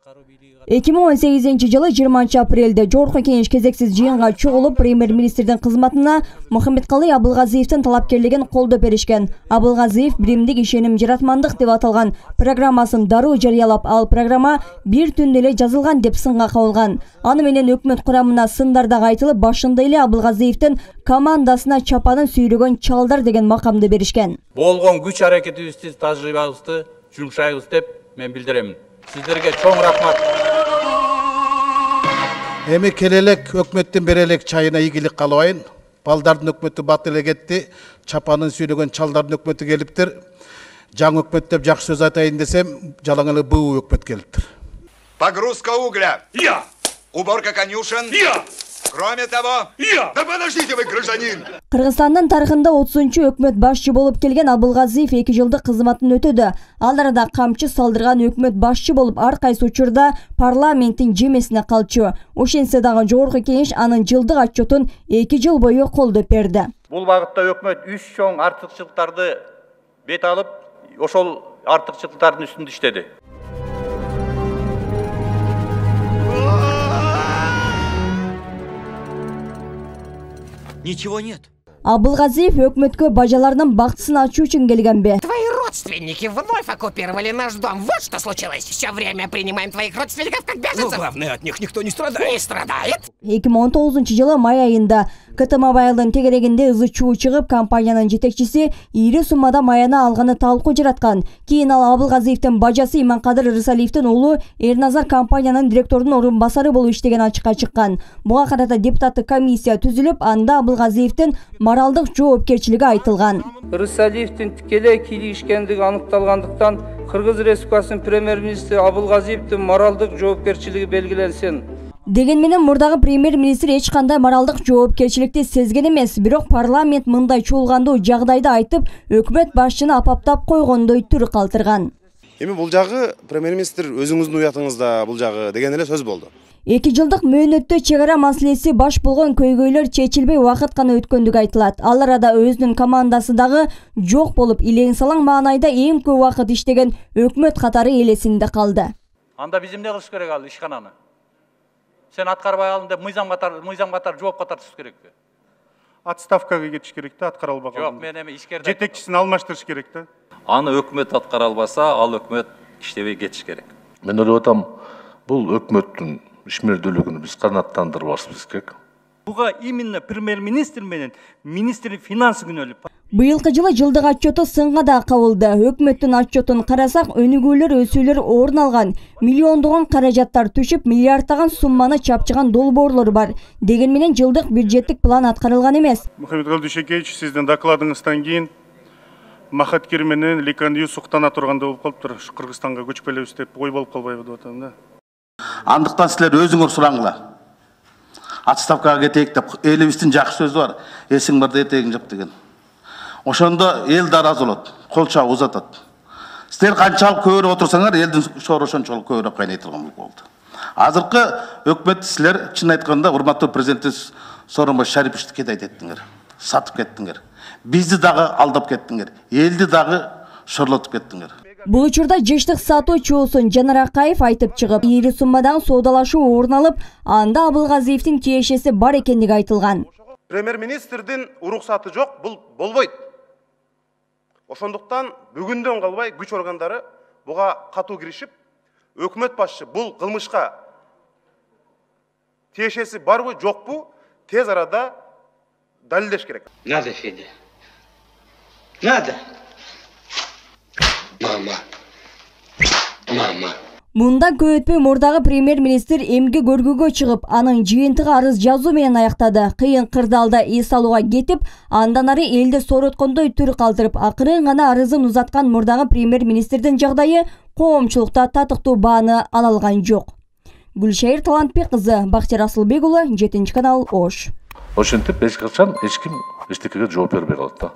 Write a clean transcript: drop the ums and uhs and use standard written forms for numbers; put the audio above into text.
2018-жылы 20 апрелде Жогорку Кеңеш кезексиз жыйынга чогулуп, премьер-министрдин кызматына Мухаммедкалый Абылгазиевдин талапкерлигин колдоп беришкен. Абылгазиев биримдик ишеним жаратмандык деп аталган программасын дароо жарыялап, ал программа бир түндө эле жазылган деп сынга кабылган. Аны менен өкмөт курамына сындар дагы айтылып, башында эле Абылгазиевдин командасына чапанын сүйрөгөн чалдар деген макамды беришкен. Болгон күч аракетибизди, тажрыйбабызды жумшайбыз деп мен билдирем. Сиздерге чоң рахмат. Эми келелек өкмөттүн берелек чайына ийгилик каалабайын. Балдардын өкмөтү бат эле кетти, чапанын сүйрөгөн чалдардын өкмөтү келиптир. Жаңы өкмөт деп жакшы сөз айтайын десем, жалаң эле буу өкмөт келиптир. Погрузка угля. Я. Уборка конюшен. Я. Кроме того, да подождите вы, гражданин. Кыргызстандын тарыхында 30-чу өкмөт башчы болуп келген Абылгазиев 2 жылдык кызматын өтөдү. Ал арада камчы салдырган өкмөт башчы болуп, ар кайсы учурда парламенттин жемесине калчу. Ошентсе дагы Жогорку Кеңеш анын жылдык отчетун 2 жыл бою колдоп берди. Бул багытта өкмөт 3 чоң артыкчылыктарды бет алып, ошол артыкчылыктардын үстүндө иштеди. Ничего нет. Абылгазиев өкмөткө бажаларынын бактысын ачуу үчүн келгенби? Твои родственники вновь оккупировали наш дом. Вот что случилось. Все время принимаем твоих родственников как беженцев. Но главное, от них никто не страдает. Не страдает. 2019-жылы май айында КТМ Абайылдын тегерегинде ызы чуу чыгып, компаниянын жетекчиси ири суммада маяна алганы талкуу жараткан. Кийин ал Абылгазиевдин бажасы Иманкадыр Рысалиевдин уулу Эрназар компаниянын директорунун орун басары болуп иштеген ачыкка чыккан. Буга карата депутаттык комиссия түзүлүп, анда Абылгазиевдин моралдык жоопкерчилиги айтылган. Рысалиевдин тикелей кийлигишкендиги аныкталгандыктан Кыргыз Республикасынын премьер-министри Абылгазиевдин моралдык жоопкерчилиги белгиленсин. Деген менен мурдагы премьер-министр эч кандай моралдык жоопкерчиликти сезген эмес, бирок парламент мындай чуулгандуу жагдайды айтып, өкмөт башчыны апаптап койгондой түр калтырган. Эми бул жагы премьер-министр өзүңүздүн уятыңызда бул жагы деген эле сөз болду. 2 жылдык мөөнөттө чек ара маселеси баш болгон көйгөйлөр чечилбей убакыт гана өткөндүгү айтылат. Ал арада өзүнүн командасы дагы жок болуп, илең салаң маанайда эң көп убакыт иштеген өкмөт катары элесинде калды. Анда биз эмне кылыш керек ал ишкананы? Сен аткарбай алдың деп мыйзам катар жоопко тартыш керекпи? Отставкага кетиш керек да, аткара албаган. Жок, мен эми ишкерде жетекчисин алмаштырыш керек да. Аны өкмөт аткара албаса, ал өкмөт иштебей кетиш керек. Мен ойлоп атам, бул өкмөттүн ишмердүүлүгүн биз канааттандырбашыбыз керек. Буга именно премьер-министр менен министр финансы күнөөлүп. Быйылкы жылы жылдык отчету сынга да кабылды. Өкмөттүн отчетун карасак, өнүгүүлөр, өсүүлөр орун алган. Миллиондогон каражаттар түшүп, миллиарддаган сумманы чапчыган долбоорлор бар. Деген менен жылдык бюджеттик план аткарылган эмес. Мухаммедкалый Дүйшөкеевич, сиздин докладыңыздан кийин Махаткер менен Ликандию суктана турганда болуп калыптыр. Кыргызстанга көчүп келебиз деп ой болуп калбайбы деп атам да. Андыктан силер өзүңөр сураңла. Отставкага кетейик деп элибиздин жакшы сөзү бар. Эсиң барда этегиң жап деген. Ошондо эл да ыраазы болот, кол чабып узатат. Силер канчалык көбүрөөк отурсаңар, элдин шоору ошончолук көбүрөөк кайнай турган болду. Азыркы өкмөт силер чын айтканда урматтуу президентибиз Сооронбай Шариповичти кедейт еттиңер, сатып кеттиңер. Бизди дагы алдап кеттиңер, элди дагы шорлотуп кеттиңер. Бул учурда жыштык сатуу чоосун Жанар Акаев айтып чыгып, ири суммадагы соодалашуу орун алып, анда Абылгазиевдин тиешеси бар экендиги айтылган. Премьер-министрдин уруксаты жок, бул болбойт. Ошондуктан бүгүндөн калбай күч органдары буга катуу киришип, өкмөт башчы бул кылмышка тиешеси барбы, жокпу, тез арада далилдеш керек. Надо, Федя. Надо. Мама. Мындан көп өтпөй мурдагы премьер-министр эмге көргүгө чыгып, анын жыйынтыгы арыз жазуу менен аяктады. Кыйын кырдаалда эс алууга кетип, андан ары элди сороткондой түр калтырып, акырын гана арызын узаткан мурдагы премьер-министрдин жагдайы коомчулукта татыктуу бааны ала алган жок. Гүлшайыр Талантбек кызы, Бактияр Асылбек уулу, 7 канал, Ош. Ошентип эч качан эч ким эчтекеге жооп бербей калат да.